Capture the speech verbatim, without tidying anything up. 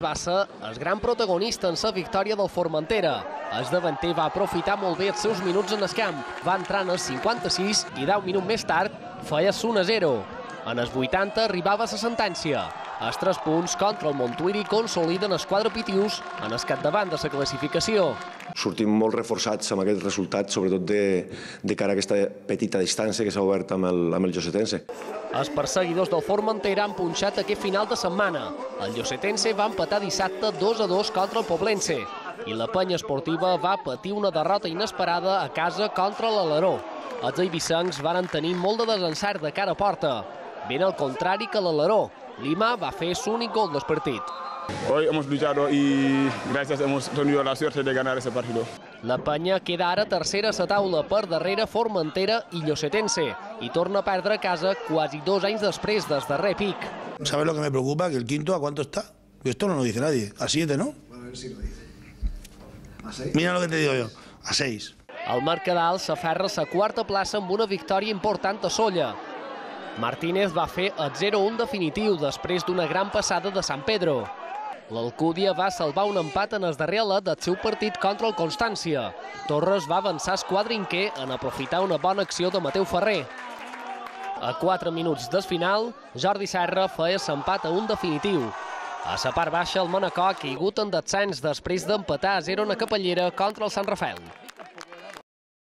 va ser el gran protagonista en la victòria del Formentera. El davanter va aprofitar molt bé els seus minuts en el camp. Va entrar en el cinquanta-sis i deu minuts més tard feia l'u a zero. En els vuitanta arribava la sentència. Els tres punts contra el Montuïri consoliden els quatre pitius en el capdavant de la classificació. Sortim molt reforçats amb aquest resultat, sobretot de, de cara a aquesta petita distància que s'ha obert amb el, amb el Llosetense. Els perseguidors del Formentera han punxat aquest final de setmana. El Llosetense va empatar dissabte dos a dos contra el Poblense i la penya esportiva va patir una derrota inesperada a casa contra l'Alaró. Els eivissencs van tenir molt de desencert de cara a porta. Ben al contrari que l'Alaró, Lima va fer l'únic gol del partit. Hoy hemos luchado y gracias hemos tenido la suerte de ganar ese partido. La penya queda ara tercera a la taula per darrere Formentera i Llosetense i torna a perdre a casa quasi dos anys després del darrer pic. ¿Sabes lo que me preocupa? Que el quinto, ¿a cuánto está? Esto no lo dice nadie. A siete, ¿no? A ver si lo dice. ¿A seis? Mira lo que te digo yo. A seis. El Mercadal s'aferra a la quarta plaça amb una victòria important a Solla. Martínez va fer el zero a un definitiu després d'una gran passada de San Pedro. L'Alcúdia va salvar un empat en el darrer alet del seu partit contra el Constància. Torres va avançar el quadrinquer en aprofitar una bona acció de Mateu Ferrer. A quatre minuts del final, Jordi Serra feia l'empat a un definitiu. A la part baixa, el Manacor ha caigut en descens després d'empatar a zero en la Capellera contra el Sant Rafael.